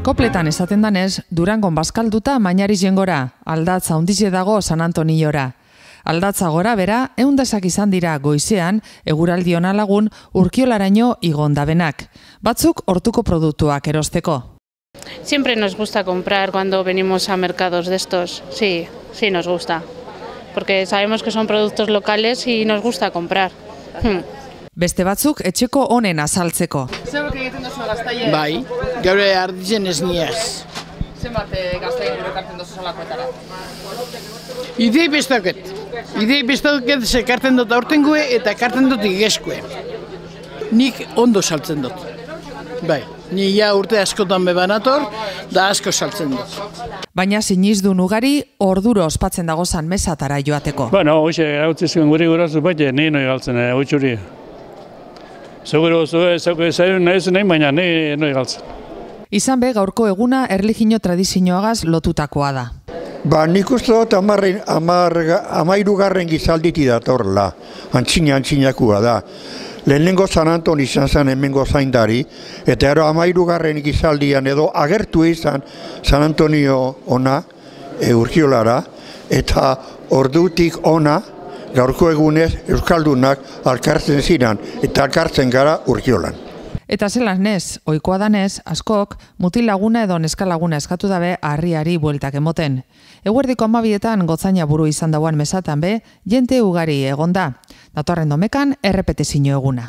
Kopletan esaten danez, Durangon bazkalduta Mainariz jengora, aldatza hundize dago San Antoniora. Aldatza gora bera, eundasak izan dira goizean, eguraldi ona lagun Urkiolaraino igondabenak. Batzuk hortuko produktuak erosteko. Siempre nos gusta comprar cuando venimos a mercados de estos, sí nos gusta, porque sabemos que son productos locales y nos gusta comprar. Beste batzuk etxeko honen azaltzeko. Zerok egiten duzu gaztaile? Bai, gaur arditzen ez niaz. Zenbat gaztaile ekartzen duzu salakoetara? Idei bestaket zekarten dut aurtengoe eta ekarten dut igeskue. Nik ondo saltzen dut. Bai, ni ja urte askotan bebanator, da asko saltzen dut. Baina sinizdun ugari orduro ospatzen dagozan mesatara joateko. Bueno, hoxe gautzizuen guri gurazu baite, ni noi galtzen, hoitxuri. Seguro, zaiun nahi zen nahi, baina noi galtzen. Izan be, gaurko eguna erlijio tradizioagaz lotutakoa da. Ba, nik uste dut 13. gizalditi datorla, antzinakua da. Lehenengo San Anton izan zen hemengo zaindari, eta ero 13. gizaldian edo agertu izan San Antonio ona, Urkiolara, eta ordutik ona, gaurko egunez Euskaldunak alkartzen ziren, eta alkartzen gara Urkiolan. Eta zelan nez, ohikoa danez, askok, mutil laguna edo neskalaguna eskatu dabe harriari bueltak emoten. Eguerdiko 12etan gotzaina buru izan dauan mesatan be, jente ugari egonda. Datorren domekan, errepetezio eguna.